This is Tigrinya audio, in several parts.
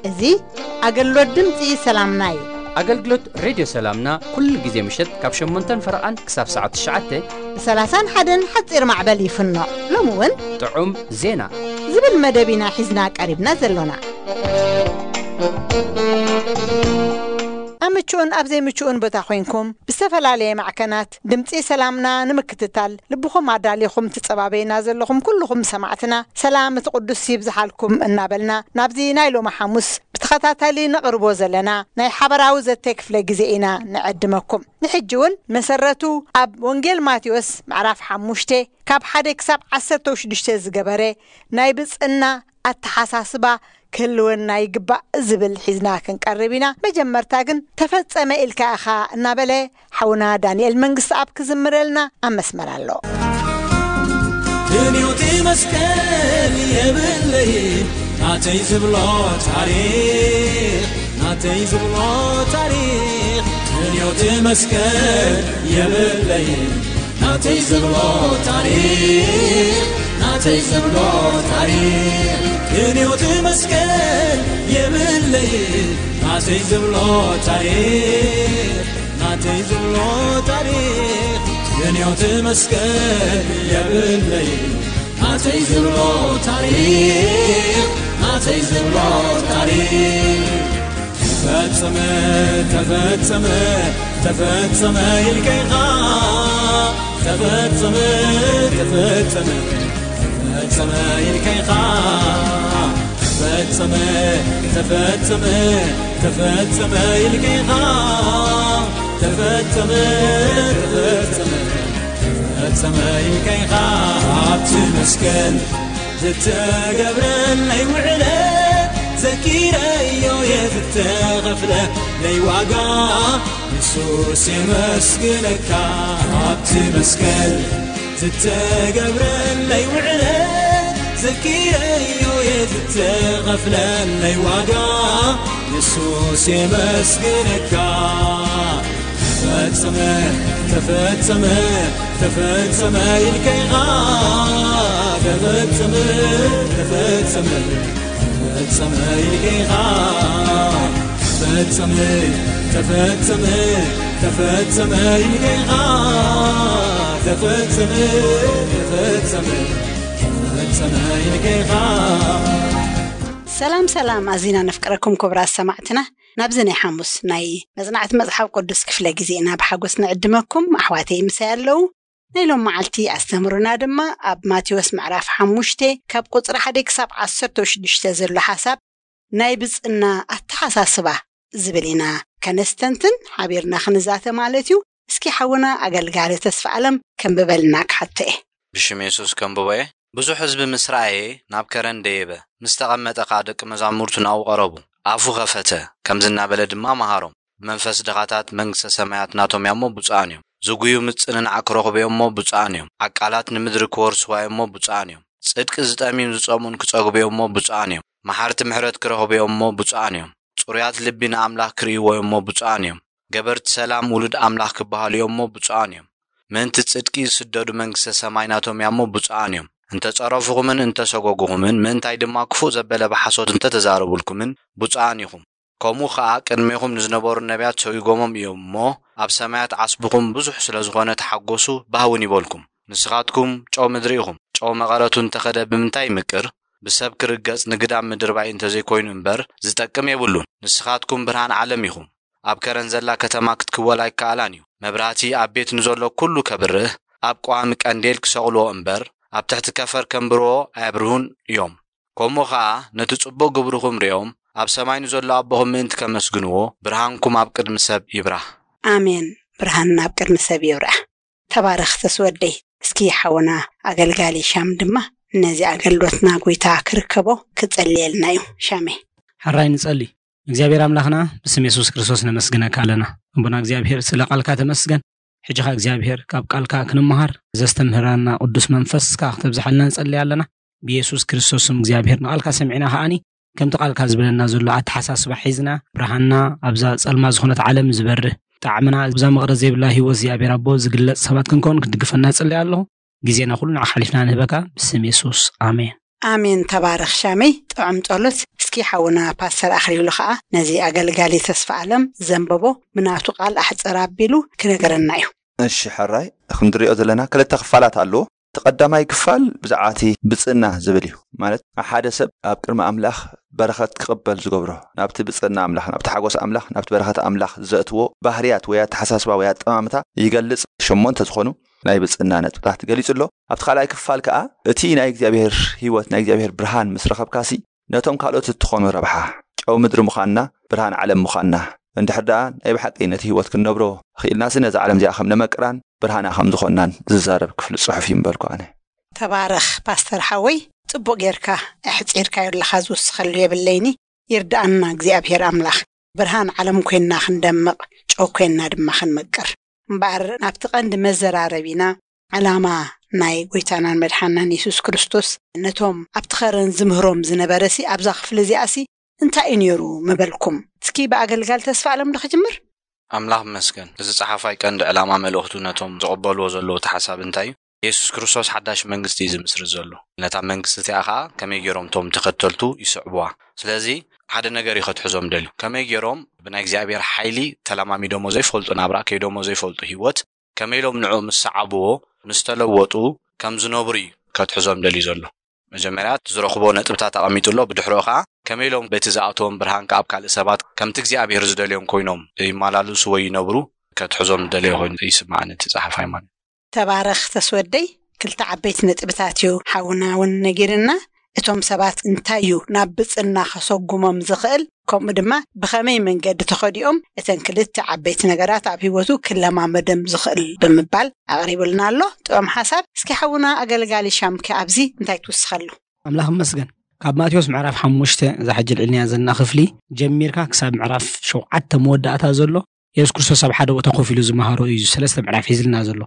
እዚ ኣገልግሎት ድምፂ ሰላምና እዩ። ኣገልግሎት ሬድዮ ሰላምና ኩሉ ግዜ ምሸት ካብ ሸሞንተን ፈረቓን ክሳብ ሰዓት ትሽዓተ ብ ሰላሳን ሓደን ሓፂር ማዕበል ይፍኖ። ሎሚ እውን ጥዑም ዜና ዝብል መደብ ኢና ሒዝና ቀሪብና ዘሎና። ኣብ ምቹእን ኣብ ዘይምቹእን ቦታ ኮይንኩም ብዝተፈላለየ ማዕከናት ድምፂ ሰላምና ንምክትታል ልብኹም ኣዳሊኹም ትጸባበዩና ዘለኹም ኩልኹም ሰማዕትና ሰላም እቲ ቅዱስ ይብዝሓልኩም እናበልና ናብዚ ናይ ሎሚ ሓሙስ ብተኸታታሊ ነቕርቦ ዘለና ናይ ሓበራዊ ዘተ ክፍለ ግዜ ኢና ንዕድመኩም። ንሕጂ እውን መሰረቱ ኣብ ወንጌል ማቴዎስ ምዕራፍ ሓሙሽተ ካብ ሓደ ክሳብ ዓሰርተ ሽዱሽተ ዝገበረ ናይ ብጽና ኣተሓሳስባ ክህልወና ይግባእ ዝብል ሒዝና ክንቀርብ ኢና። መጀመርታ ግን ተፈጸመ ኢልካ ኢኻ እናበለ ሓውና ዳንኤል መንግስት ኣብ ክዝምረልና ኣብ መስመር ኣሎ። ክንዮቲ መስቀል የብለይ ናተይ ዝብሎ ታሪኽ፣ ናተይ ዝብሎ ታሪኽ። ክንዮቲ መስቀል የብለይ ናተይ ዝብሎ ታሪኽ፣ ናተይ ዝብሎ ታሪኽ። ክንዮቲ መስቀል የብለይ ናተይ ዝብሎ ታሪኽ፣ ናተይ ዝብሎ ታሪኽ። ክንዮቲ መስቀል የብለይ ናተይ ዝብሎ ታሪኽ፣ ናተይ ዝብሎ ታሪኽ። ተፈጸመ፣ ተፈጸመ፣ ተፈጸመ ኢልካ ኢኻ። ተፈጸመ፣ ተፈጸመ፣ ተፈጸመ ኢልካ ኢኻ። ተፈጸመ፣ ተፈጸመ፣ ተፈጸመ ኢልካ ኢኻ። ተፈጸመ፣ ተፈጸመ፣ ተፈጸመ ኢልካ ኢኻ። ኣብቲ መስቀል ዝተገብረለይ ውዕለት ዘኪረዮ እየ ዝተኸፍለለይ ዋጋ። የሱስ የመስግነካ። ኣብቲ መስቀል ዝተገብረለይ ውዕለት ዘኪረዮ እየ ዝተኸፍለለይ ዋጋ። የሱስ የመስግነካ። ተፈጸመ፣ ተፈጸመ፣ ተፈጸመ ኢልካ ኢኻ። ተፈጸመ፣ ተፈጸመ፣ ተፈጸመ ኢልካ ኢኻ። ተፈጸመ፣ ተፈጸመ፣ ተፈጸመ ኢልካ ኢኻ። ተፈጸመ፣ ተፈጸመ፣ ተፈጸመ ኢልካ ኢኻ። ሰላም ሰላም፣ ኣዚና ነፍቅረኩም ክቡራት ሰማዕትና። ናብዚ ናይ ሓሙስ ናይ መጽናዕቲ መጽሓፍ ቅዱስ ክፍለ ግዜና ብሓጎስ ንዕድመኩም። ኣሕዋተይ ምሳይ ኣለዉ። ናይ ሎም መዓልቲ ኣስተምህሮና ድማ ኣብ ማቴዎስ ምዕራፍ ሓሙሽተ ካብ ቁጽሪ ሓደ ክሳብ ዓሰርተ ሽዱሽተ ዘሎ ሓሳብ ናይ ብጽና ኣተሓሳስባ ዝብል ኢና ከነስተንትን ሓቢርና ክንዛተ ማለት እዩ። እስኪ ሓውና ኣገልጋሊ ተስፋ ኣለም ከንብበልና ክሓቶ እየ። ብሽም የሱስ ከንብቦ እየ። ብዙሕ ህዝቢ ምስ ረኣየ ናብ ከረን ደየበ። ምስ ተቐመጠ ኸኣ ደቂ መዛሙርቱ ናብኡ ቀረቡ። ኣፉ ኸፈተ፣ ከምዚ እናበለ ድማ መሃሮም። ብመንፈስ ድኻታት መንግስተ ሰማያት ናቶም እያ እሞ ብፁዓን እዮም። ዝጉዩ ምጽንናዕ ክረኽቡ እዮም እሞ ብፁዓን እዮም። ዓቃላት ንምድሪ ክወርስዋ እዮም እሞ ብፁዓን እዮም። ጽድቂ ዝጠምዩን ዝጸምኡን ክጸግቡ እዮም እሞ ብፁዓን እዮም። መሓርቲ ምሕረት ክረኽቡ እዮም እሞ ብፁዓን እዮም። ጽሩያት ልቢ ንኣምላኽ ክርእይዎ እዮም እሞ ብፁዓን እዮም። ገበርቲ ሰላም ውሉድ ኣምላኽ ክበሃሉ እዮም እሞ ብፁዓን እዮም። ምእንቲ ጽድቂ ዝስደዱ መንግስተ ሰማይ ናቶም እያ እሞ ብፁዓን እዮም። እንተ ጸረፉኹምን እንተ ሰጎጉኹምን፣ ምእንታይ ድማ ክፉእ ዘበለ ብሓሶት እንተ ተዛረቡልኩምን ብፁዓን ኢኹም። ከምኡ ኸኣ ቅድሜኹም ንዝነበሩ ነቢያት ሰጒጎሞም እዮም እሞ፣ ኣብ ሰማያት ዓስብኹም ብዙሕ ስለ ዝኾነ ተሓጎሱ፣ ባህውን ይበልኩም። ንስኻትኩም ጨው ምድሪ ኢኹም። ጨው መቐረቱ እንተ ኸደ ብምንታይ ይምቅር? ብሰብ ክርገጽ ንግዳም ምድርባይ እንተ ዘይኮይኑ እምበር ዝጠቅም የብሉን። ንስኻትኩም ብርሃን ዓለም ኢኹም። ኣብ ከረን ዘላ ከተማ ክትክወል ኣይከኣላን እዩ። መብራህቲ ኣብ ቤት ንዘሎ ኩሉ ከብርህ፣ ኣብ ቀዋሚ ቀንዴል ክሰቕልዎ እምበር፣ ኣብ ትሕቲ ከፈር ከንብርዎ ኣየብርሁን እዮም። ከምኡ ኸኣ ነቲ ጽቡቕ ግብርኹም ርእዮም፣ ኣብ ሰማይ ንዘሎ ኣቦኹም ምእንቲ ከመስግንዎ፣ ብርሃንኩም ኣብ ቅድሚ ሰብ ይብራህ። ኣሜን። ብርሃንና ኣብ ቅድሚ ሰብ ይብራህ። ተባረኽ ተስወደይ። እስኪ ሓውና ኣገልጋሊ ሻም ድማ ነዚ ኣገልግሎትና ጎይታ ክርከቦ ክጸልየልና እዩ። ሻሜ። ሕራይ ንጸሊ። እግዚኣብሔር ኣምላኽና ብስም የሱስ ክርስቶስ ነመስግነካ ኣለና። ኣቦና እግዚኣብሔር ስለ ቃልካ ተመስገን። ሕጂ ኸኣ እግዚኣብሔር ካብ ቃልካ ክንመሃር ዘስተምህረና ቅዱስ መንፈስካ ክተብዝሓልና ንጸሊ ኣለና። ብየሱስ ክርስቶስ ስም እግዚኣብሔር ንቓልካ ሰሚዕና ከኣኒ ከምቲ ቃልካ ዝበለና ዘሎ ኣተሓሳስባ ሒዝና ብርሃንና ኣብዛ ጸልማ ዝኾነት ዓለም ዝበርህ ጣዕምና ኣብዛ መቕረት ዘይብላ ህይወት እግዚኣብሔር ኣቦ ዝግለጽ ሰባት ክንከውን ክትድግፈና እጽሊ ኣለኹ። ግዜና ኩሉ ንዓኻ ሓሊፍና ንህበካ ብስም የሱስ ኣሜን። ኣሜን። ተባረኽ ሻመይ፣ ጥዑም ጸሎት። እስኪ ሓውና ፓስተር ኣኽሊሉ ኸኣ ነዚ ኣገልጋሊ ተስፋ ኣለም ዘንበቦ ብናቱ ቃል ኣሕጽር ኣቢሉ ክነገረና እዩ። እሺ ሕራይ፣ ክንድሪኦ ዘለና ክልተ ክፋላት ኣለዎ። እቲ ቀዳማይ ክፋል ብዛዕባ እቲ ብጽእና ዝብል እዩ። ማለት ሓደ ሰብ ኣብ ቅድሚ ኣምላኽ በረኸት ክቕበል ዝገብሮ፣ ናብቲ ብጽእና ኣምላኽ፣ ናብቲ ሓጎስ ኣምላኽ፣ ናብቲ በረኸት ኣምላኽ ዘእትዎ ባህርያት ወይ ኣተሓሳስባ ወይ ኣጠማምታ ይገልጽ። ሸሞንተ ዝኾኑ ናይ ብጽእና ነጥብታት ገሊጹ ኣሎ። ኣብቲ ካልኣይ ክፋል ከኣ እቲ ናይ እግዚኣብሔር ህይወት፣ ናይ እግዚኣብሔር ብርሃን ምስ ረኸብካሲ ነቶም ካልኦት እትኾኑ ረብሓ፣ ጨው ምድሪ ምዃንና፣ ብርሃን ዓለም ምዃንና፣ እንድሕር ደኣ ናይ ብሓቂ ነቲ ህይወት ክንነብሮ ኽኢልናሲ ነዛ ዓለም እዚኣ ከም ነመቅራን ብርሃና ከም ዝኾንናን ዝዛረብ ክፍሊ ጽሑፍ እዩ ምበልኩ ኣነ። ተባረኽ ፓስተር ሓወይ፣ ጽቡቕ ጌርካ ኣሕጺርካዮ ኣለኻ፣ ዝውስኸሉ የብለይኒ። ይርድኣና እግዚኣብሔር ኣምላኽ። ብርሃን ዓለም ኮይንና ክንደምቕ፣ ጨው ኮይንና ድማ ክንመቅር። እምበኣር ናብቲ ቀንዲ መዘራረቢና፣ ዕላማ ናይ ጎይታናን መድሓናን የሱስ ክርስቶስ ነቶም ኣብቲ ኸረን ዝምህሮም ዝነበረሲ ኣብዛ ክፍሊ እዚኣሲ እንታይ እዩ ነይሩ ምበልኩም? እስኪ ብኣገልጋል ተስፋ ኣለም ዶ ክጅምር? ኣምላኽ ይመስገን። እዚ ጸሓፋይ ቀንዲ ዕላማ መልእኽቱ ነቶም ዝቕበልዎ ዘለዉ እቲ ሓሳብ እንታይ እዩ? የሱስ ክርስቶስ ሓዳሽ መንግስቲ እዩ ዝምስርት ዘሎ። ነታ መንግስቲ እቲኣ ኸኣ ከመይ ገይሮም እቶም ተኸተልቱ ይስዕብዋ? ስለዚ ሓደ ነገር እዩ ከትሕዞም ደልዩ። ከመይ ገይሮም ብናይ እግዚኣብሔር ሓይሊ ተለማሚዶሞ ዘይፈልጡ ናብራ፣ ከይዶሞ ዘይፈልጡ ህይወት፣ ከመይ ኢሎም ንዕኡ ምስ ሰዓብዎ፣ ምስ ተለወጡ ከም ዝነብሩ እዩ ከትሕዞም ደልዩ ዘሎ። መጀመርያ እቲ ዝረኽቦ ነጥብታት ኣቐሚጡ ኣሎ። ብድሕሪኡ ኸኣ ከመይ ኢሎም በቲ ዝኣተዎም ብርሃን ከኣ ኣብ ካልእ ሰባት ከምቲ እግዚኣብሔር ዝደልዮም ኮይኖም ይመላልሱ ወይ ይነብሩ ከትሕዞም ዝደለዮ ኮይኑ ይስምዓኒ እቲ ጸሓፋይ ማለት። ተባረኽ ተስወደይ፣ ክልተ ዓበይቲ ነጥብታት እዩ ሓውና እውን ነጊርና። እቶም ሰባት እንታይ እዩ ናብ ብጽና ከሰጉሞም ዝኽእል፣ ከምኡ ድማ ብኸመይ መንገዲ ተኸዲኦም እተን ክልተ ዓበይቲ ነገራት ኣብ ህይወቱ ክለማመደም ዝኽእል ብምባል ኣቕሪቡልና ኣሎ። ጥዑም ሓሳብ። እስኪ ሓውና ኣገልጋሊ ሻምኪ ኣብዚ እንታይ ትውስኸሉ? ኣምላኽ ይመስገን። ካብ ማቴዎስ ምዕራፍ ሓሙሽተ እዛ ሕጂ ልዕልንያ ዘለና ክፍሊ ጀሚርካ ክሳብ ምዕራፍ ሸውዓተ መወዳእታ ዘሎ የሱስ ክርስቶስ ኣብ ሓደ ቦታ ኮፍ ኢሉ ዝመሃሮ እዩ ሰለስተ ምዕራፍ ሒዝልና ዘሎ።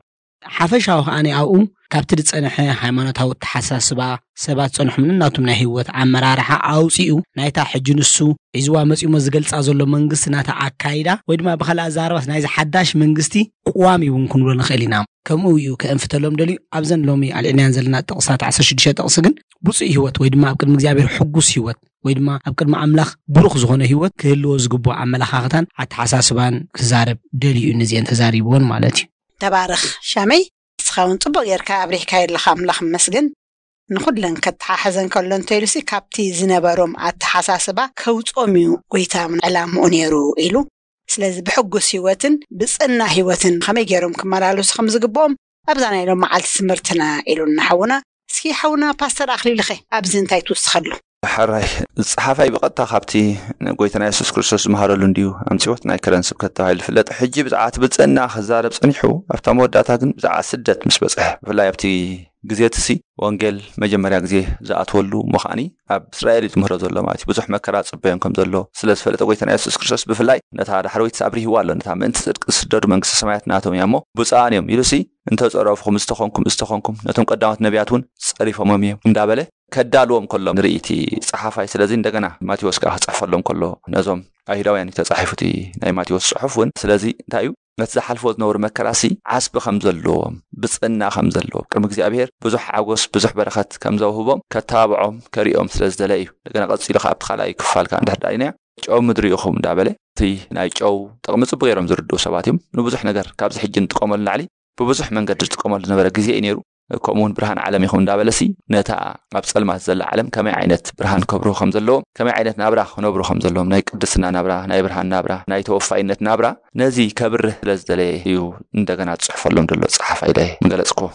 ሓፈሻዊ ከኣ ኣብኡ ካብቲ ዝጸንሐ ሃይማኖታዊ ኣተሓሳስባ ሰባት ጸንሖም ንናቶም ናይ ህይወት ኣመራርሓ ኣውጺኡ ናይታ ሕጂ ንሱ ሒዝዋ መጺሞ ዝገልጻ ዘሎ መንግስቲ ናታ ኣካይዳ ወይ ድማ ብኻልእ ኣዛረባስ ናይዚ ሓዳሽ መንግስቲ ቅዋም እዩ እውን ክንብሎ ንኽእል ኢና። ከምኡ እዩ ከእንፍተሎም ደልዩ ኣብዘን ሎሚ ኣልዕልናያን ዘለና ጥቕስታት ዓሰርተ ሽዱሽተ ጥቕሲ ግን ብፁዕ ህይወት ወይ ድማ ኣብ ቅድሚ እግዚኣብሔር ሕጉስ ህይወት ወይ ድማ ኣብ ቅድሚ ኣምላኽ ብሩኽ ዝኾነ ህይወት ክህልዎ ዝግብኦ ኣመለኻኽታን ኣተሓሳስባን ክዛረብ ደልዩ እዩ። ንዚአን ተዛሪብዎን ማለት እዩ። ተባረኽ ሻመይ፣ ንስኻ እውን ጽቡቕ ጌርካ ኣብሪህካዮ ኣለኻ። ኣምላኽ ይመስገን። ንኹለን ከተሓሕዘን ከሎ እንተኢሉሲ ካብቲ ዝነበሮም ኣተሓሳስባ ከውጾም እዩ ጎይታ ዕላምኡ ነይሩ ኢሉ። ስለዚ ብሕጉስ ህይወትን ብጽና ህይወትን ከመይ ገይሮም ክመላለሱ ከም ዝግብኦም ኣብዛ ናይ ሎም መዓልቲ ትምህርትና ኢሉና ሓውና። እስኪ ሓውና ፓስተር ኣኽሊልኸ ኣብዚ እንታይ ትውስኸሉ? ሕራይ፣ ጸሓፋይ ብቐጥታ ካብቲ ጎይታና የሱስ ክርስቶስ ዝመሃረሉ እንድዩ ኣምጺኦት ናይ ከረን ስብከት ተባሂሉ ዝፍለጥ። ሕጂ ብዛዕባ እቲ ብጽእና ክዛረብ ጸኒሑ ኣብታ መወዳእታ ግን ብዛዕባ ስደት ምስ በጽሐ፣ ብፍላይ ኣብቲ ግዜ እቲ ሲ ወንጌል መጀመርያ ግዜ ዝኣትወሉ ምዃኒ ኣብ እስራኤል እዩ ዝምህሮ ዘሎ ማለት እዩ። ብዙሕ መከራ ጽበዮም ከም ዘሎ ስለ ዝፈለጠ ጎይታና የሱስ ክርስቶስ ብፍላይ ነታ ዳሕረወይቲ ኣብሪህዋ ኣሎ። ነታ ምእንቲ ጽድቂ ዝስደዱ መንግስቲ ሰማያት ናቶም እያ እሞ ብፁዓን እዮም ኢሉ ሲ እንተ ጸረፍኹም ዝተኾንኩም ዝተኾንኩም ነቶም ቀዳሞት ነቢያት እውን ጸሪፎሞም እዮም እንዳበለ ከዳልዎም ከሎ ንርኢ እቲ ጸሓፋይ። ስለዚ እንደገና ማቴዎስ ከኣ ክጽሕፈሎም ከሎ ነዞም ኣይሁዳውያን እዩ ተጻሒፉ እቲ ናይ ማቴዎስ ጽሑፍ እውን። ስለዚ እንታይ እዩ ነቲ ዝሓልፍዎ ዝነበሩ መከራሲ ዓስቢ ከም ዘለዎም ብጽና ከም ዘለዎም ቅድሚ እግዚኣብሔር ብዙሕ ሓጎስ ብዙሕ በረኸት ከም ዘውህቦም ከተባብዖም ከሪኦም ስለ ዝደለ እዩ። እንደገና ቀጺሉ ከኣ ኣብቲ ካልኣይ ክፋል ከኣ እንድሕር ደኣ ኢናዮ ጨው ምድሪ ኢኹም እንዳበለ እቲ ናይ ጨው ጥቕሚ ጽቡቅ ገይሮም ዝርድኡ ሰባት እዮም። ንብዙሕ ነገር ካብዚ ሕጂ ንጥቀመሉ ንላዕሊ ብብዙሕ መንገዲ ዝጥቀመሉ ዝነበረ ግዜ እዩ ነይሩ። ከምኡ እውን ብርሃን ዓለም ኢኹም እንዳበለሲ ነታ ኣብ ጸልማት ዘላ ዓለም ከመይ ዓይነት ብርሃን ከብርሁ ከም ዘለዎም ከመይ ዓይነት ናብራ ክነብሩ ከም ዘለዎም ናይ ቅድስና ናብራ ናይ ብርሃን ናብራ ናይ ተወፋይነት ናብራ ነዚ ከብርህ ስለ ዝደለየ እዩ እንደገና ዝጽሕፈሎም ዘሎ ጸሓፋይ ኢለ ምገለጽክዎ።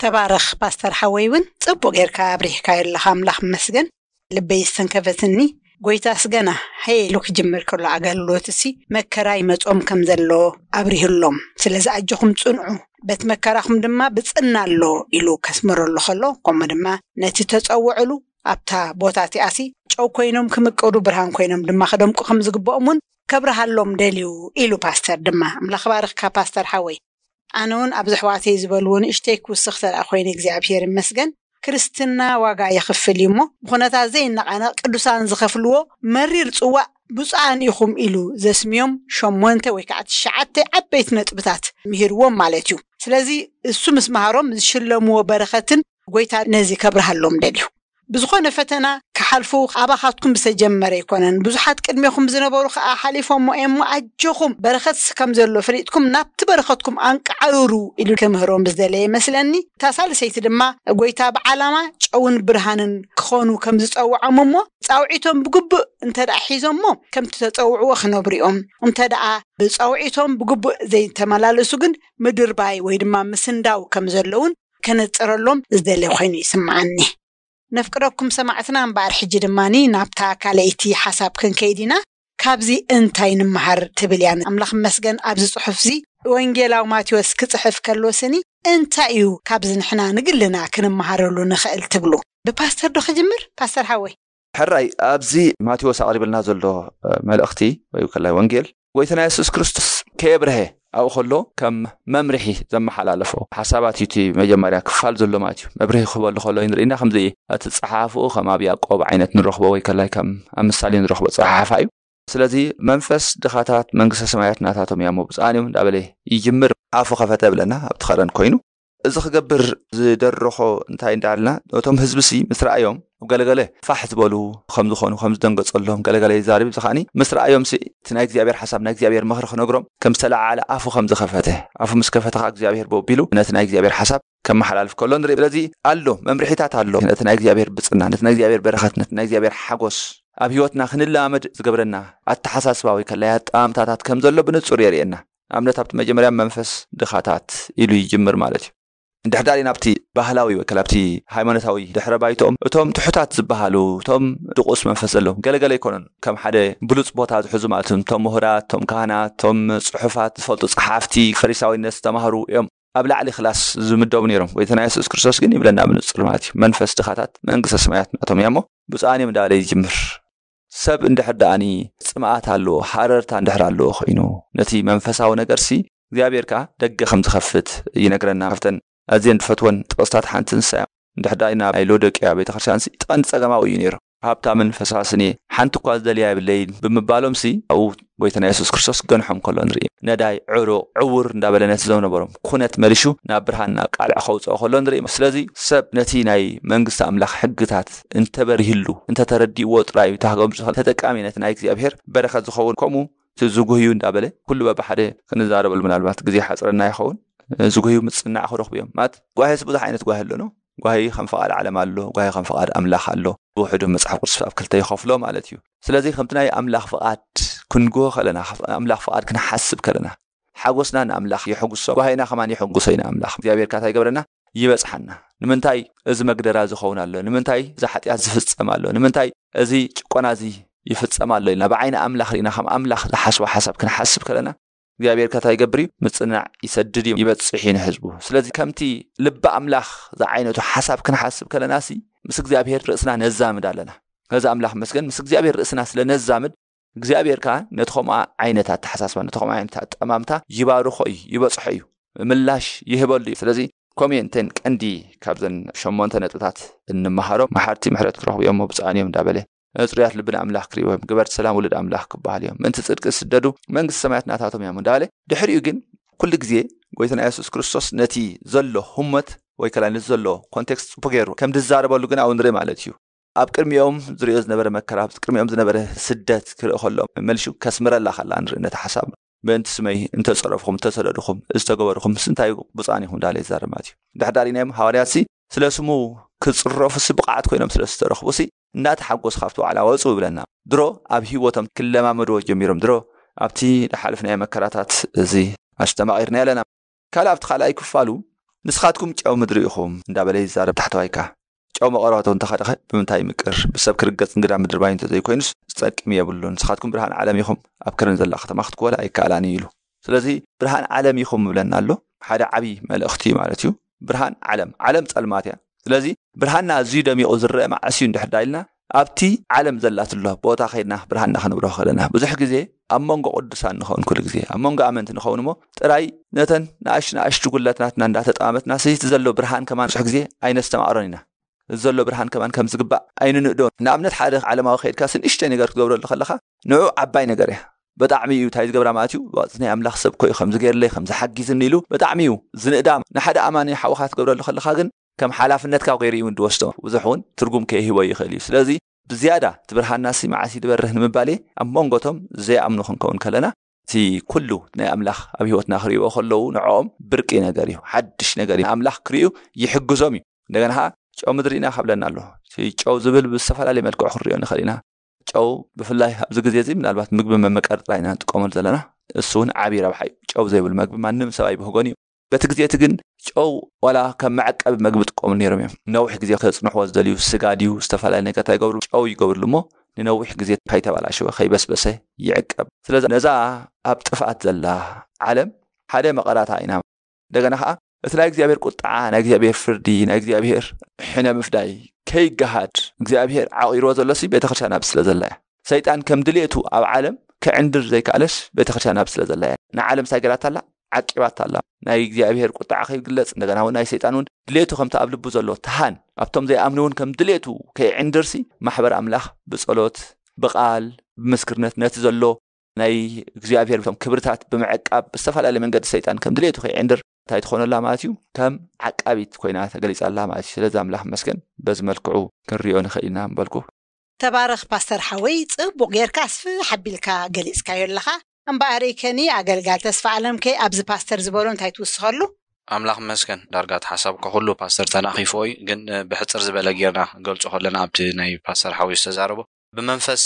ተባረኽ ፓስተር ሓወይ እውን ጽቡቕ ጌርካ ኣብሪህካዮ ኣለኻ ኣምላኽ መስገን። ልበይ ዝተንከፈትኒ ጎይታስ ገና ሀይ ኢሉ ክጅምር ከሎ ኣገልግሎት እሲ መከራ ይመጾም ከም ዘሎ ኣብሪህሎም። ስለዚ ኣጆኹም ጽንዑ በቲ መከራኹም ድማ ብጽና ኣሎ ኢሉ ከስምረሉ ከሎ ከምኡ ድማ ነቲ ተጸውዕሉ ኣብታ ቦታ እቲኣሲ ጨው ኮይኖም ክምቅሩ ብርሃን ኮይኖም ድማ ክደምቁ ከም ዝግብኦም እውን ከብርሃሎም ደልዩ ኢሉ ፓስተር ድማ ኣምላኽ ባርኽካ ፓስተር ሓወይ። ኣነ እውን ኣብዚ ኣሕዋተይ ዝበልዎ ንእሽተይ ክውስኽ ተደኣ ኮይነ እግዚኣብሔር ይመስገን። ክርስትና ዋጋ የኽፍል እዩ እሞ፣ ብኹነታት ዘይነቓነቕ ቅዱሳን ዝኸፍልዎ መሪር ጽዋእ ብፁዓን ኢኹም ኢሉ ዘስምዮም ሸሞንተ ወይ ከዓ ትሽዓተ ዓበይቲ ነጥብታት ምሂርዎም ማለት እዩ። ስለዚ እሱ ምስ መሃሮም ዝሽለምዎ በረኸትን ጎይታ ነዚ ከብርሃሎም ደልዩ። ብዝኾነ ፈተና ክሓልፉ ኣባኻትኩም ዝተጀመረ ኣይኮነን። ብዙሓት ቅድሜኹም ዝነበሩ ከዓ ሓሊፎሞ እዮም። ኣጆኹም፣ በረኸት ከም ዘሎ ፈሊጥኩም ናብቲ በረኸትኩም ኣንቃዕርሩ ኢሉ ክምህሮም ዝደለየ ይመስለኒ። እታ ሳልሰይቲ ድማ ጎይታ ብዓላማ ጨውን ብርሃንን ክኾኑ ከም ዝጸውዖም እሞ ጻውዒቶም ብግቡእ እንተ ደኣ ሒዞሞ ከምቲ ተጸውዕዎ ክነብሩ እዮም። እንተ ደኣ ብጻውዒቶም ብግቡእ ዘይተመላለሱ ግን ምድርባይ ወይ ድማ ምስንዳው ከም ዘለውን ከነጽረሎም ዝደለ ኮይኑ ይስምዓኒ። ነፍቅረኩም ሰማዕትና እምበኣር ሕጂ ድማኒ ናብታ ካልኣይቲ ሓሳብ ክንከይድ ኢና። ካብዚ እንታይ ንምሃር ትብል እያ። ኣምላኽ መስገን ኣብዚ ጽሑፍዚ ወንጌላዊ ማቴዎስ ክጽሕፍ ከሎ ስኒ እንታይ እዩ ካብዚ ንሕና ንግልና ክንመሃረሉ ንኽእል ትብሉ? ብፓስተር ዶ ክጅምር? ፓስተር ሓወይ። ሕራይ ኣብዚ ማቴዎስ ኣቕሪብልና ዘሎ መልእኽቲ ወይ ከላይ ወንጌል ጎይታና የሱስ ክርስቶስ ከየብርሀ ኣብኡ ከሎ ከም መምርሒ ዘመሓላለፎ ሓሳባት እዩ። እቲ መጀመርያ ክፋል ዘሎ ማለት እዩ። መብርሂ ክህበሉ ከሎ ንርኢና ከምዚ እቲ ጸሓፍኡ ከም ኣብ ያዕቆብ ዓይነት ንረኽቦ ወይ ከላይ ከም ኣብ ምሳሌ ንረኽቦ ጸሓሓፋ እዩ። ስለዚ መንፈስ ድኻታት መንግስተ ሰማያት ናታቶም እያ እሞ ብፁዓን እዮም እንዳበለ ይጅምር። ኣፉ ከፈተ ብለና ኣብቲ ኸረን ኮይኑ እዚ ክገብር ዝደረኾ እንታይ እንዳልና ነቶም ህዝቢ ሲ ምስ ረኣዮም ገለገለ ፋሕ ዝበሉ ከም ዝኾኑ ከም ዝደንገጸሎም ገለገለ ይዛረብ። እዚ ከዓኒ ምስ ረኣዮም ሲ እቲ ናይ እግዚኣብሔር ሓሳብ ናይ እግዚኣብሔር ምኽሪ ክነግሮም ከም ዝተለዓለ ኣፉ ከም ዝኸፈተ ኣፉ ምስ ከፈተ ከዓ እግዚኣብሔር በቢሉ ነቲ ናይ እግዚኣብሔር ሓሳብ ከመሓላልፍ ከሎ ንርኢ። ስለዚ ኣሎ መምርሒታት ኣሎ ነቲ ናይ እግዚኣብሔር ብፅና ነቲ ናይ እግዚኣብሔር በረኸት ነቲ ናይ እግዚኣብሔር ሓጎስ ኣብ ህይወትና ክንለማመድ ዝገብረና ኣተሓሳስባ ወይ ከላይ ኣጠማምታታት ከም ዘሎ ብንጹር የርእየና። ኣብነት ኣብቲ መጀመርያ መንፈስ ድኻታት ኢሉ ይጅምር ማለት እዩ። እንድሕር ዳሪና ኣብቲ ባህላዊ ወይ ከላ ኣብቲ ሃይማኖታዊ ድሕረ ባይቶኦም እቶም ትሑታት ዝበሃሉ እቶም ድቑስ መንፈስ ዘለዎም ገለገለ ኣይኮኑን። ከም ሓደ ብሉፅ ቦታ ዝሕዙ ማለት እዮም። እቶም ምሁራት፣ እቶም ካህናት፣ እቶም ፅሑፋት ዝፈልጡ ፀሓፍቲ፣ ፈሪሳዊነት ዝተማህሩ እዮም ኣብ ላዕሊ ክላስ ዝምደቡ ነይሮም። ጎይታና የሱስ ክርስቶስ ግን ይብለና ብንፁር ማለት እዩ መንፈስ ድኻታት መንግስተ ሰማያት ናቶም እያ እሞ ብፁዓን እዮም እንዳበለ ይጅምር። ሰብ እንድሕር ደኣኒ ፅምኣት ኣለዎ፣ ሃረርታ እንድሕር ኣለዎ ኮይኑ ነቲ መንፈሳዊ ነገርሲ እግዚኣብሔር ከዓ ደገ ከም ዝኸፍት ይነግረና። ካብተን ኣዝየን ዝፈትወን ጥቕስታት ሓንቲ ንሳ እያ። እንድሕር ደኣ ኢና ናይ ሎዶቅያ ቤተክርስትያን ሲ ቀንዲ ጸገማዊ እዩ ነይሩ። ሃብታምን ፈሳስን እየ፣ ሓንቲ እኳ ዝደልያ የብለይን ብምባሎም ሲ ኣብኡ ጎይታና የሱስ ክርስቶስ ገንሖም ከሎ ንርኢ። ነዳይ፣ ዕሩቕ፣ ዕውር እንዳበለ ነቲ ዘው ነበሮም ኩነት መሊሹ ናብ ብርሃን ናብ ቃልዕ ከውፅኦ ከሎ ንርኢ። ስለዚ ሰብ ነቲ ናይ መንግስቲ ኣምላኽ ሕግታት እንተበሪህሉ እንተተረዲእዎ ጥራይ እዩ ታህገም ዝኾነ ተጠቃሚ ነቲ ናይ እግዚኣብሔር በረኸት ዝኸውን። ከምኡ እቲ ዝጉህዩ እንዳበለ ኩሉ በብሓደ ክንዛረበሉ ምናልባት ግዜ ሓፅረና ይኸውን። ዝጉህዩ ምፅናዕ ክረኽቡ እዮም ማለት ጓሄስ ብዙሕ ዓይነት ጓሄ ኣለኖ። ጓሂ ከም ፍቓድ ዓለም ኣሎ፣ ጓሂ ከም ፍቓድ ኣምላኽ ኣሎ። ብውሕዱ መጽሓፍ ቅዱስ ኣብ ክልተ ይኸፍሎ ማለት እዩ። ስለዚ ከምቲ ናይ ኣምላኽ ፍቓድ ክንግሆ ከለና፣ ኣምላኽ ፍቓድ ክንሓስብ ከለና፣ ሓጎስና ንኣምላኽ የሐጉሶ፣ ጓሂና ከማን የሐጉሶ ኢና። ኣምላኽ እግዚኣብሔር ካታ ይገብረና፣ ይበጽሓና። ንምንታይ እዚ መግደራ ዝኸውን ኣሎ? ንምንታይ እዚ ሓጢኣት ዝፍጸም ኣሎ? ንምንታይ እዚ ጭቆና እዚ ይፍጸም ኣሎ? ኢልና ብዓይኒ ኣምላኽ ርኢና ከም ኣምላኽ ዝሓስቦ ሓሳብ ክንሓስብ ከለና እግዚኣብሔር ከታ ይገብር እዩ፣ ምጽናዕ ይሰድድ እዩ፣ ይበጽሕ እዩ ንህዝቡ። ስለዚ ከምቲ ልቢ ኣምላኽ ዝዓይነቱ ሓሳብ ክንሓስብ ከለና ሲ ምስ እግዚኣብሔር ርእስና ነዛምድ ኣለና። ነዚ ኣምላኽ መስገን ምስ እግዚኣብሔር ርእስና ስለ ነዛምድ እግዚኣብሔር ከኣ ነቲ ከምኣ ዓይነት ኣተሓሳስባ ነቲ ከምኣ ዓይነት ኣጠማምታ ይባርኾ እዩ፣ ይበጽሖ እዩ፣ ምላሽ ይህበሉ እዩ። ስለዚ ከምኡ እየን እተን ቀንዲ ካብዘን ሸሞንተ ነጥብታት እንመሃሮ መሓርቲ ምሕረት ክረኽቡ እዮም ብፁዓን እዮም እንዳበለ ጽሩያት ልቢ ንኣምላኽ ክርእይዎ እዮም። ግበርቲ ሰላም ውሉድ ኣምላኽ ክበሃል እዮም። ምእንቲ ጽድቂ ዝስደዱ መንግስቲ ሰማያት ናታቶም እዮም እንዳበለ ድሕሪኡ ግን ኩሉ ግዜ ጎይታና የሱስ ክርስቶስ ነቲ ዘሎ ህሞት ወይ ከላ ነቲ ዘሎ ኮንቴክስት ጽቡቅ ገይሩ ከም ዝዛረበሉ ግን ኣብኡ ንርኢ ማለት እዩ። ኣብ ቅድሚኦም ዝርእዮ ዝነበረ መከራ ኣብ ቅድሚኦም ዝነበረ ስደት ክርኢ ከሎ መሊሹ ከስምረላ ከላ ንርኢ ነቲ ሓሳብ ምእንቲ ስመይ እንተጸረፍኹም እንተሰደድኹም ዝተገበርኹም ምስ እንታይ ብፁዓን ኢኹም እንዳለ ይዛረብ ማለት እዩ። ድሕዳሪናዮም ሃዋርያት ሲ ስለ ስሙ ክጽረፉ ሲ ብቕዓት ኮይኖም ስለ ዝተረኽቡ ሲ እናተሓጎስ ካብቲ ዋዕላ ወፁ ይብለና። ድሮ ኣብ ህይወቶም ክለማመድዎ ጀሚሮም ድሮ ኣብቲ ዝሓለፍናዮ መከራታት እዚ ኣስተማቒርና ኣለና። ካልእ ኣብቲ ካልኣይ ክፋሉ ንስኻትኩም ጨው ምድሪ ኢኹም እንዳበለ ይዛረብ ታሕተዋይ ከኣ ጨው መቐረቱ እንተኸደኸ ብምንታይ ይምቅር? ብሰብ ክርገጽ እንግዳ ምድርባይ እንተዘይኮይኑስ ዝጠቅም የብሉን። ንስኻትኩም ብርሃን ዓለም ኢኹም፣ ኣብ ከረን ዘላ ከተማ ክትኮላ ኣይከኣላን እዩ ኢሉ። ስለዚ ብርሃን ዓለም ኢኹም ይብለና ኣሎ። ሓደ ዓብዪ መልእኽቲ እዩ ማለት እዩ። ብርሃን ዓለም፣ ዓለም ጸልማት እያ። ስለዚ ብርሃንና ኣዝዩ ደሚቑ ዝረአ መዓስ እዩ እንድሕር ዳ ኢልና ኣብቲ ዓለም ዘላትሎ ቦታ ከይድና ብርሃንና ከነብርሆ ከለና ብዙሕ ግዜ ኣብ መንጎ ቅዱሳን ንኸውን ኩሉ ግዜ ኣብ መንጎ ኣመንቲ ንኸውን እሞ ጥራይ ነተን ንኣሽ ንኣሽቱ ጉለት ናትና እንዳተጠማመትና ስይቲ ዘሎ ብርሃን ከማን ብዙሕ ግዜ ኣይነስተማቕሮን ኢና። ዘሎ ብርሃን ከማን ከም ዝግባእ ኣይንንእዶ። ንኣብነት ሓደ ዓለማዊ ከይድካ ንእሽተይ ነገር ክትገብረሉ ከለኻ ንዑ ዓባይ ነገር እያ። ብጣዕሚ እዩ እንታይ ዝገብራ ማለት እዩ። እዚ ናይ ኣምላኽ ሰብ ኮዩ ከምዚ ገይርለይ ከምዚ ሓጊዝኒ ኢሉ ብጣዕሚ እዩ ዝንእዳ። ንሓደ ኣማኒ ሓውኻ ክትገብረሉ ከለኻ ግን ከም ሓላፍነትካ ገይሩ እዩ እውን ዝወስዶ። ብዙሕ እውን ትርጉም ከይህቦ ይኽእል እዩ። ስለዚ ብዝያዳ እቲ ብርሃንና ሲ መዓስ ይበርህ ንምባል እየ። ኣብ መንጎቶም ዘይኣምኑ ክንከውን ከለና እቲ ኩሉ ናይ ኣምላኽ ኣብ ህይወትና ክርእይዎ ከለዉ ንዕኦም ብርቂ ነገር እዩ፣ ሓድሽ ነገር እዩ። ኣምላኽ ክርእዩ ይሕግዞም እዩ። እንደገና ኸዓ ጨው ምድሪ ኢና ካብለና ኣሎ። እቲ ጨው ዝብል ብዝተፈላለየ መልክዑ ክንሪኦ ንኽእል ኢና። ጨው ብፍላይ ኣብዚ ግዜ እዚ ምናልባት ምግቢ መመቀሪ ጥራይ ኢና ንጥቀመሉ ዘለና። እሱ እውን ዓብዪ ረብሓ እዩ። ጨው ዘይብሉ መግቢ ማንም ሰብ ኣይብህጎን እዩ። በቲ ግዜ እቲ ግን ጨው ዋላ ከም መዐቀቢ መግቢ ጥቀሙ ነይሮም እዮም። ነዊሕ ግዜ ከጽንሕዎ ዝደልዩ ስጋ ድዩ ዝተፈላለየ ነገር እንታይ ይገብሩ? ጨው ይገብርሉ እሞ ንነዊሕ ግዜ ከይተበላሸወ ከይበስበሰ ይዕቀብ። ስለዚ ነዛ ኣብ ጥፍኣት ዘላ ዓለም ሓደ መቐራታ ኢና። እንደገና ኸዓ እቲ ናይ እግዚኣብሔር ቁጥዓ፣ ናይ እግዚኣብሔር ፍርዲ፣ ናይ እግዚኣብሔር ሕነ ምፍዳይ ከይገሃድ እግዚኣብሔር ዓቒርዎ ዘሎሲ ቤተክርስትያን ኣብ ስለ ዘላ እያ። ሰይጣን ከም ድሌቱ ኣብ ዓለም ክዕንድር ዘይከኣለስ ቤተክርስትያን ኣብ ስለ ዘላ እያ። ንዓለም ሳይ ገራታ ኣላ ዓቂባታ ኣላ። ናይ እግዚኣብሔር ቁጥዓ ከይግለጽ እንደገና እውን ናይ ሰይጣን እውን ድሌቱ ከምቲ ኣብ ልቡ ዘሎ ተሃን ኣብቶም ዘይኣምኑ እውን ከም ድሌቱ ከይዕንድርሲ ማሕበር ኣምላኽ ብጸሎት ብቓል ብምስክርነት ነቲ ዘሎ ናይ እግዚኣብሔር ቶም ክብርታት ብምዕቃብ ብዝተፈላለየ መንገዲ ሰይጣን ከም ድሌቱ ከይዕንድር እንታይ ትኾነላ ማለት እዩ ከም ዓቃቢት ኮይና ተገሊጻ ኣላ ማለት እዩ። ስለዚ ኣምላኽ መስገን በዚ መልክዑ ክንሪኦ ንኽእል ኢና ምበልኩ። ተባረኽ ፓስተር ሓወይ፣ ጽቡቕ ጌርካ ኣስፍሕ ኣቢልካ ገሊጽካዮ ኣለኻ። እምበኣር ከኒ ኣገልጋል ተስፋ ኣለምከ ኣብዚ ፓስተር ዝበሎ እንታይ ትውስኸሉ? ኣምላኽ መስገን ዳርጋ እቲ ሓሳብ ከኩሉ ፓስተር ተናኺፎ እዩ፣ ግን ብሕፅር ዝበለ ጌርና ገልጾ ከለና ኣብቲ ናይ ፓስተር ሓወይ ዝተዛረቦ ብመንፈስ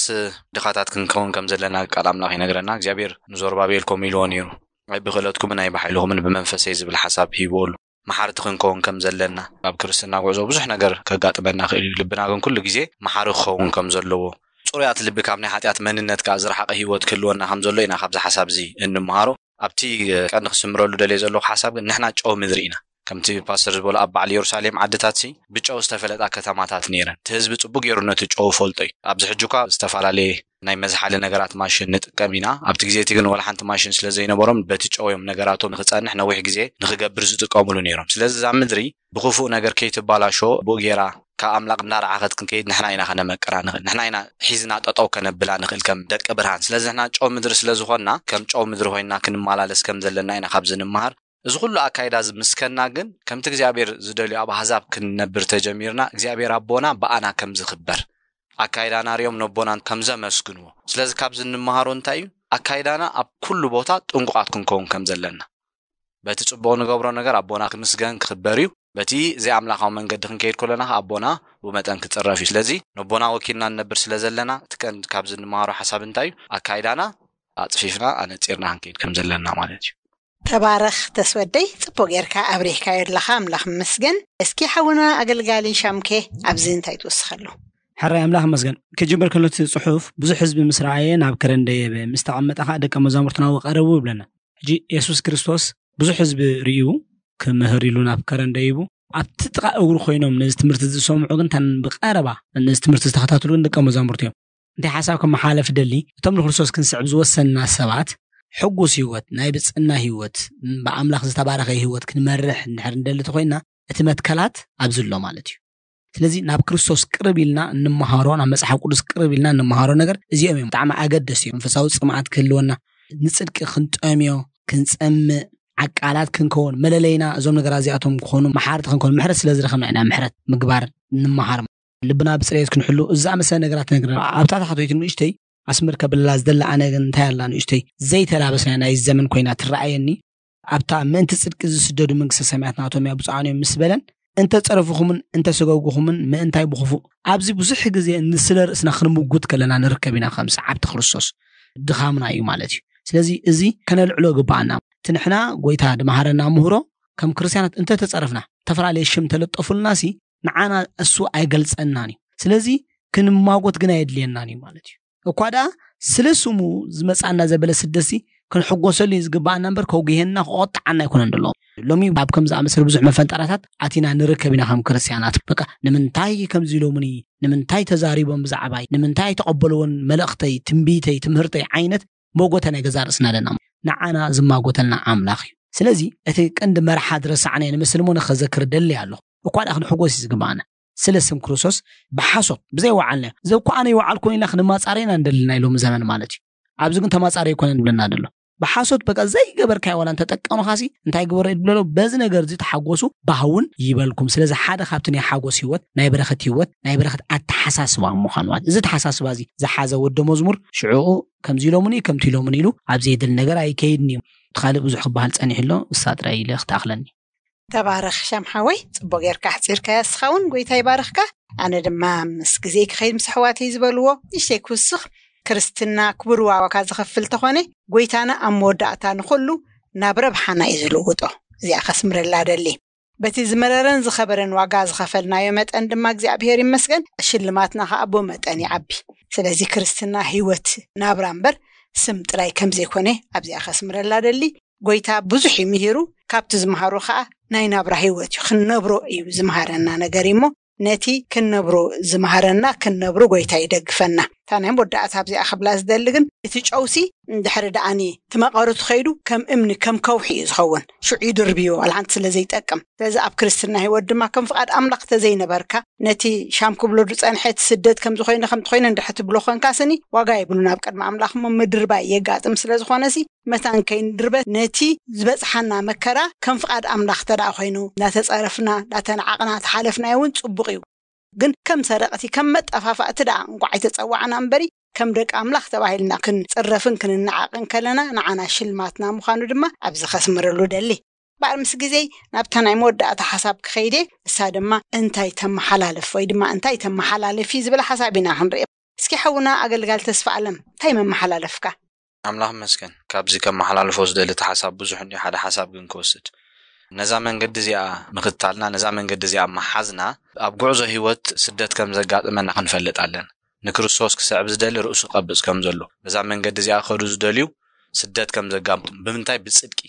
ድኻታት ክንከውን ከም ዘለና ቃል ኣምላኽ ይነግረና። እግዚኣብሔር ንዞርባቤል ከምኡ ኢልዎ ነይሩ፣ ኣይ ብክእለትኩምን ኣይ ብሓይልኹምን ብመንፈሰይ ዝብል ሓሳብ ሂብዎ ኣሎ። መሓርቲ ክንከውን ከም ዘለና ኣብ ክርስትና ጉዕዞ ብዙሕ ነገር ከጋጥመና ክእል እዩ። ልብና ግን ኩሉ ግዜ መሓሪ ክኸውን ከም ዘለዎ፣ ጽሩያት ልቢ ካብ ናይ ሓጢኣት መንነት ከኣ ዝረሓቐ ህይወት ክህልወና ከም ዘሎ ኢና ካብዚ ሓሳብ እዚ እንመሃሮ። ኣብቲ ቀንዲ ክስምረሉ ደልየ ዘለኹ ሓሳብ ግን ንሕና ጨው ምድሪ ኢና። ከምቲ ፓስተር ዝበሎ ኣብ በዓል ኢየሩሳሌም ዓድታት ሲ ብጨው ዝተፈለጣ ከተማታት ነይረን። እቲ ህዝቢ ጽቡቅ ገይሩ ነቲ ጨው ፈልጦ እዩ። ኣብዚ ሕጂ እኳ ዝተፈላለየ ናይ መዝሓሊ ነገራት ማሽን ንጥቀም ኢና። ኣብቲ ግዜ እቲ ግን ወላ ሓንቲ ማሽን ስለ ዘይነበሮም በቲ ጨው እዮም ነገራቶም ንክጸንሕ ነዊሕ ግዜ ንክገብር ዝጥቀምሉ ነይሮም። ስለዚ እዛ ምድሪ ብክፉእ ነገር ከይትባላሾ ብኡ ገይራ ካብ ኣምላኽ እናረዓኸት ክንከይድ ንሕና ኢና ከነመቅራ ንኽእል። ንሕና ኢና ሒዝና ጠጠው ከነብላ ንኽእል ከም ደቂ ብርሃን። ስለዚ ንሕና ጨው ምድሪ ስለ ዝኾንና ከም ጨው ምድሪ ኮይንና ክንመላለስ ከም ዘለና ኢና ካብዚ ንመሃር። እዚ ኩሉ ኣካይዳ እዚ ምስከና ግን ከምቲ እግዚኣብሔር ዝደልዮ ኣብ ኣህዛብ ክንነብር ተጀሚርና እግዚኣብሔር ኣቦና ብኣና ከም ዝኽበር ኣካይዳና ሪኦም ነቦናን ከም ዘመስግንዎ። ስለዚ ካብዚ እንመሃሮ እንታይ እዩ? ኣካይዳና ኣብ ኩሉ ቦታ ጥንቁቓት ክንከውን ከም ዘለና። በቲ ጽቡቕ ንገብሮ ነገር ኣቦና ክምስገን ክኽበር እዩ። በቲ ዘይኣምላኻዊ መንገዲ ክንከይድ ከለና ከኣ ኣቦና ብኡ መጠን ክጽረፍ እዩ። ስለዚ ነቦና ወኪልና ንነብር ስለ ዘለና እቲ ቀንዲ ካብዚ እንመሃሮ ሓሳብ እንታይ እዩ? ኣካይዳና ኣጽፊፍና ኣነጺርና ክንከይድ ከም ዘለና ማለት እዩ። ተባረኽ ተስወደይ፣ ጽቡቕ ጌርካ ኣብሪህካዮ ኣለኻ፣ ኣምላኽ ይመስገን። እስኪ ሓውና ኣገልጋሊ ሻምኬ ኣብዚ እንታይ ትውስኸሉ? ሕራይ ኣምላኽ ይመስገን። ክጅምር ከሎ እቲ ጽሑፍ ብዙሕ ህዝቢ ምስ ረኣየ ናብ ከረን ደየበ፣ ምስ ተቐመጠ ኸኣ ደቀ መዛሙርቱ ናብኡ ቀረቡ ይብለና። ሕጂ የሱስ ክርስቶስ ብዙሕ ህዝቢ ርእዩ ክምህር ኢሉ ናብ ከረን ደይቡ ኣብቲ ጥቓ እግሩ ኮይኖም ነዚ ትምህርቲ ዝሰምዑ ግን እታን ብቐረባ ነዚ ትምህርቲ ዝተኸታተሉ ግን ደቀ መዛሙርቱ እዮም። እንታይ ሓሳብ ከመሓላልፍ ደሊ፣ እቶም ንክርስቶስ ክንስዕብ ዝወሰንና ሰባት ሕጉስ ህይወት፣ ናይ ብፅዕና ህይወት፣ ብኣምላኽ ዝተባረኸ ህይወት ክንመርሕ እንድሕር እንደሊ ተኮይንና እቲ መትከላት ኣብዚ ኣሎ ማለት እዩ። ስለዚ ናብ ክርስቶስ ቅርብ ኢልና እንመሃሮ፣ ናብ መፅሓፍ ቅዱስ ቅርብ ኢልና እንመሃሮ ነገር እዚኦም እዮም ብጣዕሚ ኣገደስቲ እዮም። መንፈሳዊ ፅምኣት ክህልወና፣ ንፅድቂ ክንጠምዮ፣ ክንፀምእ፣ ዓቃላት ክንከውን፣ መለለይና እዞም ነገራት እዚኣቶም ክኾኑ፣ መሓርቲ ክንከውን፣ ምሕረት ስለ ዝረኸብና ኢና ምሕረት ምግባር እንመሃር። ልብና ብፅሬት ክንሕሉ፣ እዚ ዝኣመሰለ ነገራት ነግረና። ኣብታ ታሕተወይቲ ንእሽተይ ኣስምር ከብለላ ዝደሊ ኣነ ግን እንታይ ኣላ ንእሽተይ ዘይተላበስና ናይ ዘመን ኮይና ትረኣየኒ። ኣብታ ምእንቲ ፅድቂ ዝስደዱ መንግስተ ሰማያት ናቶም እያ ብፁዓን እዮም ምስ በለን፣ እንተ ጸረፍኹምን እንተ ሰጎግኹምን ምእንታይ ብኽፉእ ኣብዚ ብዙሕ ግዜ ንስለ ርእስና ክንምጉት ከለና ንርከብ ኢና ከም ሰዓብቲ ክርስቶስ ድኻምና እዩ ማለት እዩ። ስለዚ እዚ ከነልዕሎ ግባኣና። እቲ ንሕና ጎይታ ድመሃረና ምህሮ ከም ክርስትያናት እንተ ተጸረፍና ዝተፈላለየ ሽም ተለጠፉልና ሲ ንዓና እሱ ኣይገልጸናን እዩ። ስለዚ ክንማጎት ግን ኣየድልየናን እዩ ማለት እዩ። እኳ ደኣ ስለ ስሙ ዝመጻና ዘበለ ስደሲ ክንሕጎሰሉ እዩ ዝግባኣና እምበር ከጉሄና ክቆጥዓና ኣይኮነን ደሎ። ሎሚ ኣብ ከም ዝኣመሰለ ብዙሕ መፈንጠራታት ኣቲና ንርከብ ኢና ከም ክርስትያናት። በቃ ንምንታይ ከምዚ ኢሎምኒ፣ ንምንታይ ተዛሪቦም ብዛዕባይ፣ ንምንታይ ተቐበልዎን መልእኽተይ፣ ትንቢተይ፣ ትምህርተይ ዓይነት መጎተ ናይ ገዛ ርእስና ኣለና። ንዓና ዝማጎተልና ኣምላኽ እዩ። ስለዚ እቲ ቀንዲ መርሓ ዝረሳዕናዮ ንምስል እሞ ንኸዘክር ደሊ ኣለኹ። እኳ ደኣ ክንሕጎስ እዩ ዝግባኣና። ስለ ስም ክርስቶስ ብሓሶት ብዘይ ወዓልና፣ ዘብ እኮ ኣነ ይወዓልኩ ኢልና ክንማጻረና እንደልና ኢሎም ዘመን ማለት እዩ። ኣብዚ ግን ተማጻሪ ኣይኮነን ይብለና ደሎ። ብሓሶት በቃ ዘይገበርካዮ ዋላ እንተጠቀምኻሲ እንታይ ግበሮ ይብለሎ። በዚ ነገር እዚ ተሓጎሱ፣ ባህውን ይበልኩም። ስለዚ ሓደ ካብቲ ናይ ሓጎስ ህይወት፣ ናይ በረኸት ህይወት፣ ናይ በረኸት ኣተሓሳስባ ምዃኑ ማለት እዚ ኣተሓሳስባ እዚ ዝሓዘ ወደ መዝሙር ሽዑኡ ከምዚ ኢሎምኒ ከምቲ ኢሎምኒ ኢሉ ኣብ ዘየድል ነገር ኣይከይድን እዩ። እቲ ካልእ ብዙሕ ክበሃል ጸኒሑ ኣሎ። እሳ ጥራይ ኢለ ክትኣኽለኒ። ተባረኽ ሻም ሓወይ፣ ጽቡቕ ጌርካ ኣሕጺርካያ። እስኻ እውን ጎይታ ይባርኽካ። ኣነ ድማ ምስ ግዜ ክኸይድ ምስ ኣሕዋተይ ዝበልዎ ንእሽተይ ክውስኽ። ክርስትና ክቡር ዋጋ ዝኸፍል ተኾነ፣ ጎይታና ኣብ መወዳእታ ንኹሉ ናብ ረብሓና እዩ ዝልውጦ። እዚኣ ከስምረላ ደሊ። በቲ ዝመረረን ዝኸበረን ዋጋ ዝኸፈልናዮ መጠን ድማ እግዚኣብሔር ይመስገን፣ ሽልማትና ኸኣ ብኡ መጠን ይዓቢ። ስለዚ ክርስትና ህይወት ናብራ እምበር ስም ጥራይ ከም ዘይኮነ ኣብዚኣ ከስምረላ ደሊ። ጎይታ ብዙሕ እዩ ምሂሩ፣ ካብቲ ዝመሃሮ ኸኣ ናይ ናብራ ህይወት እዩ ክንነብሮ እዩ ዝመሃረና ነገር እሞ፣ ነቲ ክንነብሮ ዝመሃረና ክንነብሮ ጎይታ ይደግፈና። እታ ናይ መወዳእታ ኣብዚኣ ክብላ ዝደሊ ግን፣ እቲ ጨውሲ እንድሕሪ ደኣኒ እቲ መቐረቱ ኸይዱ ከም እምኒ ከም ከውሒ እዩ ዝኸውን፣ ሽዑ ይድርብዮ ዋላ ሓንቲ ስለ ዘይጠቅም። ስለዚ ኣብ ክርስትና ህይወት ድማ ከም ፍቓድ ኣምላኽ ተዘይነበርካ፣ ነቲ ሻም ክብሎ ዝጸንሐ እቲ ስደት ከም ዝኾይነ ከም ትኾይነ እንድሕር ትብሎ ኾንካ ስኒ ዋጋ የብሉን ኣብ ቅድሚ ኣምላኽ እሞ ምድርባይ የጋጥም። ስለ ዝኾነሲ መታን ከይንድርበ ነቲ ዝበጽሓና መከራ ከም ፍቓድ ኣምላኽ ተደኣ ኮይኑ እንዳተጸረፍና እንዳተነዓቕና ተሓለፍናዮ እውን ጽቡቕ እዩ። ግን ከም ሰረቕቲ ከም መጠፋፋእቲ ደኣ እንቋዕ ኣይተጸዋዕና እምበሪ፣ ከም ደቂ ኣምላኽ ተባሂልና ክንጽረፍን ክንነዓቕን ከለና ንዓና ሽልማትና ምዃኑ ድማ ኣብዚ ከስምረሉ ደሊ። እምበኣር ምስ ግዜይ ናብታ ናይ መወዳእታ ሓሳብ ክኸይደ፣ እሳ ድማ እንታይ ተመሓላልፍ ወይ ድማ እንታይ ተመሓላልፊ ዝብል ሓሳብ ኢና ክንርኢ። እስኪ ሓውና ኣገልጋል ተስፋ ኣለም እንታይ መመሓላለፍካ? ኣምላኽ መስገን። ካብዚ ከመሓላልፎ ዝደሊ እቲ ሓሳብ ብዙሕ እንዲዩ፣ ሓደ ሓሳብ ግን ክወስድ። ነዛ መንገዲ እዚኣ ምኽታልና፣ ነዛ መንገዲ እዚኣ መሓዝና፣ ኣብ ጉዕዞ ህይወት ስደት ከም ዘጋጥመና ክንፈልጥ ኣለና። ንክርስቶስ ክስዕብ ዝደሊ ርእሱ ክቐብጽ ከም ዘሎ፣ በዛ መንገዲ እዚኣ ክኸዱ ዝደልዩ ስደት ከም ዘጋጥም። ብምንታይ? ብጽድቂ።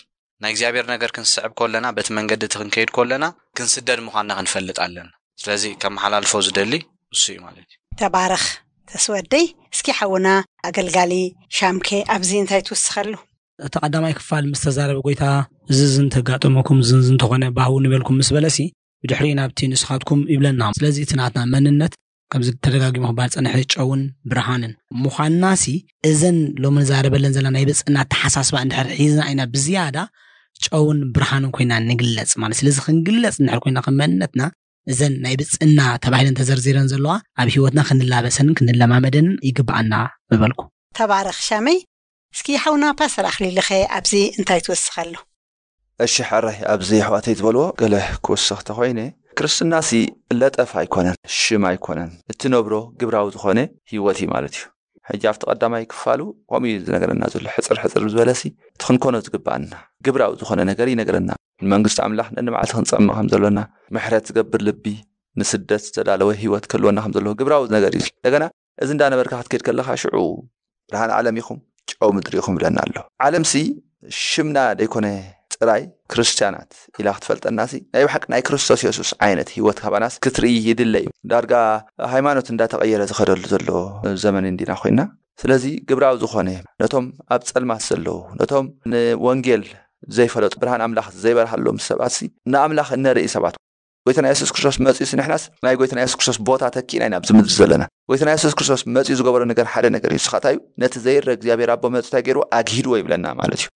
ናይ እግዚኣብሔር ነገር ክንስዕብ ከለና፣ በቲ መንገዲ እቲ ክንከይድ ከለና፣ ክንስደድ ምዃንና ክንፈልጥ ኣለና። ስለዚ ከመሓላልፎ ዝደሊ እሱ እዩ ማለት እዩ። ተባረኽ ተስወደይ። እስኪ ሓውና ኣገልጋሊ ሻምኬ ኣብዚ እንታይ ትውስኸሉ? እቲ ቀዳማይ ክፋል ምስ ተዛረበ ጎይታ፣ እዚ እዚ እንተጋጠመኩም፣ እዚ እዚ እንተኾነ፣ ባህው ንበልኩም ምስ በለሲ፣ ብድሕሪኡ ናብቲ ንስኻትኩም ይብለና። ስለዚ እቲ ናትና መንነት፣ ከምዚ ተደጋጊሙ ክበሃል ዝጸንሐ፣ ጨውን ብርሃንን ምዃንናሲ፣ እዘን ሎሚ ንዛረበለን ዘለና ናይ ብጽና ኣተሓሳስባ እንድሕር ሒዝና ኢና ብዝያዳ ጨውን ብርሃንን ኮይና ንግለጽ ማለት። ስለዚ ክንግለጽ እንድሕር ኮይና ከም መንነትና፣ እዘን ናይ ብጽና ተባሂለን ተዘርዚረን ዘለዋ ኣብ ህይወትና ክንላበሰንን ክንለማመደንን ይግብኣና ምበልኩ። ተባረኽ ሻመይ። እስኪ ሓውና ፓስተር ኣኽሊልኸ ኣብዚ እንታይ ትወስኸሉ? እሺ ሕራይ፣ ኣብዚ ኣሕዋተይ ዝበልዎ ገለ ክውስኽ ተኾይነ፣ ክርስትናሲ ለጠፍ ኣይኮነን፣ ሽም ኣይኮነን፣ እትነብሮ ግብራዊ ዝኾነ ህይወት እዩ ማለት እዩ። ሕጂ ኣብቲ ቀዳማይ ክፋሉ ከምኡ እዩ ዝነገረና ዘሎ፣ ሕፅር ሕፅር ዝበለሲ እቲ ክንኮኖ ዝግብኣና ግብራዊ ዝኾነ ነገር ይነግረና። ንመንግስቲ ኣምላኽ ነንመዓልቲ ክንፀምእ ከም ዘሎና፣ ምሕረት ዝገብር ልቢ፣ ንስደት ዝተዳለወ ህይወት ክህልወና ከም ዘለዎ ግብራዊ ነገር እዩ። እንደገና እዚ እንዳነበርካ ክትከይድ ከለኻ ሽዑ ብርሃን ዓለም ኢኹም፣ ጨው ምድሪ ኢኹም ይብለና ኣሎ። ዓለምሲ ሽምና ደይኮነ ጥራይ ክርስትያናት ኢላ ክትፈልጠናሲ ናይ ብሓቂ ናይ ክርስቶስ የሱስ ዓይነት ህይወት ካባናስ ክትርኢ ይድለ እዩ። ዳርጋ ሃይማኖት እንዳተቐየረ ዝኸደሉ ዘሎ ዘመን እንዲና ኮይና። ስለዚ ግብራዊ ዝኾነ ነቶም ኣብ ጸልማት ዘለዉ፣ ነቶም ንወንጌል ዘይፈለጡ፣ ብርሃን ኣምላኽ ዘይበርሃሎም ሰባትሲ ንኣምላኽ እነርኢ ሰባት። ጎይታና የሱስ ክርስቶስ መጺኡሲ ንሕናስ ናይ ጎይታና የሱስ ክርስቶስ ቦታ ተኪእና ኢና ኣብዚ ምድሪ ዘለና። ጎይታና የሱስ ክርስቶስ መጺኡ ዝገበሮ ነገር ሓደ ነገር እዩ። ንስኻ እንታይ እዩ? ነቲ ዘይረ እግዚኣብሔር ኣቦ መጺኡ እንታይ ገይርዎ? ኣግሂድዎ ይብለና ማለት እዩ።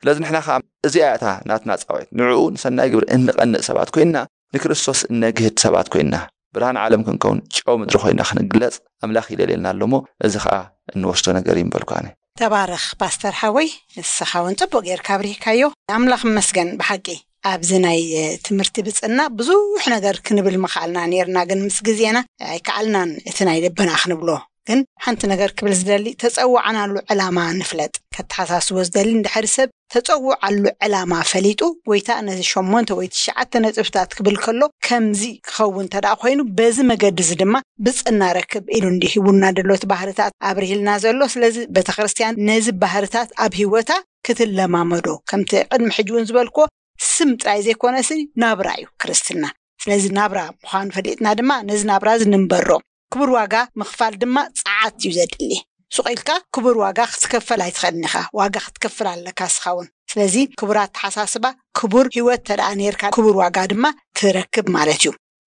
ስለዚ ንሕና ከዓ እዚኣ እታ ናትና ጻውዒት፣ ንዕኡ ንሰናይ ግብሪ እንቐንእ ሰባት ኮይንና፣ ንክርስቶስ እነግህድ ሰባት ኮይንና፣ ብርሃን ዓለም ክንከውን፣ ጨው ምድሪ ኮይንና ክንግለጽ ኣምላኽ ይደልየልና ኣሎ እሞ፣ እዚ ከዓ እንወስዶ ነገር እዩ ምበልኩ ኣነ። ተባረኽ ፓስተር ሓወይ፣ ንስኻ እውን ጽቡቕ ጌርካ ኣብሪህካዮ። ኣምላኽ ይመስገን ብሓቂ። ኣብዚ ናይ ትምህርቲ ብጽና ብዙሕ ነገር ክንብል ምኽኣልና ኔርና፣ ግን ምስ ግዜና ኣይከኣልናን እቲ ናይ ልብና ክንብሎ። ግን ሓንቲ ነገር ክብል ዝደሊ፣ ተጸዋዕናሉ ዕላማ ንፍለጥ። ከተሓሳስቦ ዝደሊ፣ እንድሕሪ ሰብ ተጸውዓሉ ዕላማ ፈሊጡ፣ ጎይታ ነዚ ሸሞንተ ወይ ትሽዓተ ነጥብታት ክብል ከሎ፣ ከምዚ ክኸውን እንተ ደኣ ኮይኑ፣ በዚ መገዲ እዚ ድማ ብጽና ረክብ ኢሉ እንዲ ሂቡና ደሎ፣ እቲ ባህርታት ኣብርሂልና ዘሎ። ስለዚ ቤተ ክርስቲያን ነዚ ባህርታት ኣብ ህይወታ ክትለማመዶ፣ ከምቲ ቅድሚ ሕጂ እውን ዝበልክዎ፣ ስም ጥራይ ዘይኮነሲ ናብራ እዩ ክርስትና። ስለዚ ናብራ ምዃኑ ፈሊጥና ድማ ነዚ ናብራ እዚ ንንበሮ። ክቡር ዋጋ ምኽፋል ድማ ጸዓት እዩ ዘድሊ። ሱቕ ኢልካ ክቡር ዋጋ ክትከፈል ኣይትኽእልን ኢኻ። ዋጋ ክትከፍል ኣለካ እስኻ እውን። ስለዚ ክቡር ኣተሓሳስባ፣ ክቡር ህይወት ተደኣ ነርካ፣ ክቡር ዋጋ ድማ ትረክብ ማለት እዩ።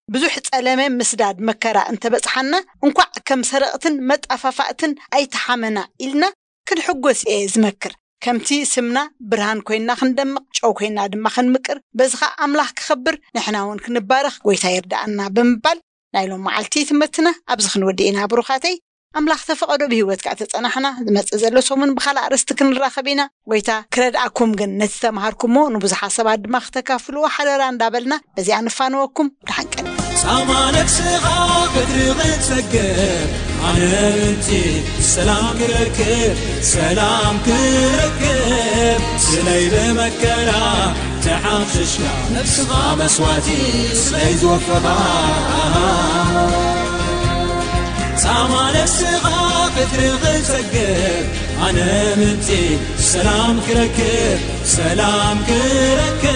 ብዙሕ ጸለመ፣ ምስዳድ፣ መከራ እንተበጽሓና፣ እንኳዕ ከም ሰረቕትን መጣፋፋእትን ኣይተሓመና ኢልና ክንሕጎስ እየ ዝመክር። ከምቲ ስምና ብርሃን ኮይና ክንደምቕ፣ ጨው ኮይና ድማ ክንምቅር፣ በዚ ኸኣ ኣምላኽ ክኸብር፣ ንሕና እውን ክንባረኽ ጎይታ ይርዳኣና ብምባል ናይ ሎም መዓልቲ ትምህርትና ኣብዚ ክንወድእ ኢና። ብሩኻተይ፣ ኣምላኽ ተፈቐዶ ብህይወት ከኣ ተጸናሕና፣ ዝመጽእ ዘሎ ሰሙን ብኻልእ ኣርእስቲ ክንራኸብ ኢና። ጎይታ ክረድኣኩም ግን ነቲ ተምሃርኩሞ ንብዙሓት ሰባት ድማ ክተካፍልዎ ሓደራ እንዳበልና በዚኣ ንፋነወኩም። ደሓን ቀን። ሳማ ነፍስኻ ክትርቕ ትሰግር፣ ኣነ ምንቲ ሰላም ክረክብ፣ ሰላም ክረክብ፣ ስለይ ብመከራ ተሓምሽሽካ፣ ነፍስኻ መስዋዕቲ ስለይ ዝወፈኻ። ሳማ ነፍስኻ ክትርቕ ትሰግር፣ ኣነ ምንቲ ሰላም ክረክብ፣ ሰላም ክረክብ፣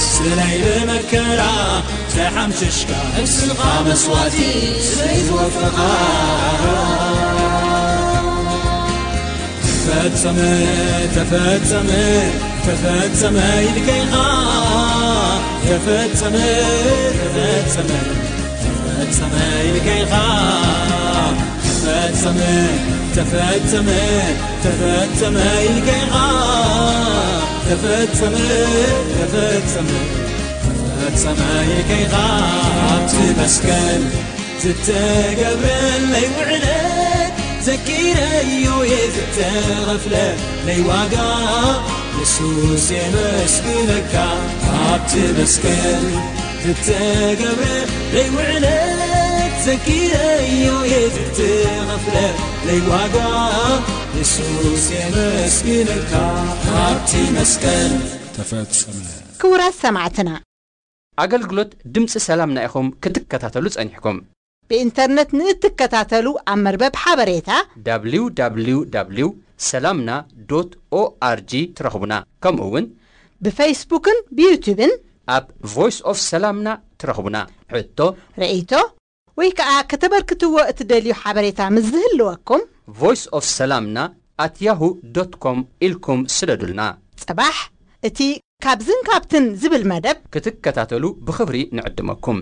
ስለይ ብመከራ ተሓምሽሽካ፣ ነፍስኻ መስዋዕቲ ስለይ ዝወፈኻ። ተፈጸመ፣ ተፈጸመ፣ ተፈጸመ ኢልካ ኢኻ። ተፈጸመ፣ ተፈጸመ፣ ተፈጸመ ኢልካ ኢኻ። ተፈጸመ፣ ተፈጸመ፣ ተፈጸመ ኢልካ ኢኻ። ተፈጸመ፣ ተፈጸመ፣ ተፈጸመ ኢልካ ኢኻ። ኣብቲ መስቀል ዝተገብረለይ ውዕለት ዘኪረዮ እየ፣ ዝተኸፍለለይ ዋጋ የሱስ የመስግነካ። ኣብቲ መስቀል ዝተገብረለይ ውዕለት ዘኪረዮ እየ፣ ዝተኸፍለለይ ዋጋ የሱስ የመስግነካ። ኣብቲ መስቀል ተፈጸመ። ክቡራት ሰማዕትና፣ ኣገልግሎት ድምፂ ሰላምና ኢኹም ክትከታተሉ ጸኒሕኩም። ብኢንተርነት ንእትከታተሉ ኣብ መርበብ ሓበሬታ www ሰላምና ዶት ኦኣርጂ ትረኽቡና። ከምኡ እውን ብፌስቡክን ብዩቱብን ኣብ ቮይስ ኦፍ ሰላምና ትረኽቡና። ሕቶ፣ ርእይቶ ወይ ከዓ ከተበርክትዎ እትደልዩ ሓበሬታ ምስ ዝህልወኩም፣ ቮይስ ኦፍ ሰላምና ኣት ያሁ ዶት ኮም ኢልኩም ስደዱልና። ጽባሕ እቲ ካብዝን ካብትን ዝብል መደብ ክትከታተሉ ብኽብሪ ንዕድመኩም።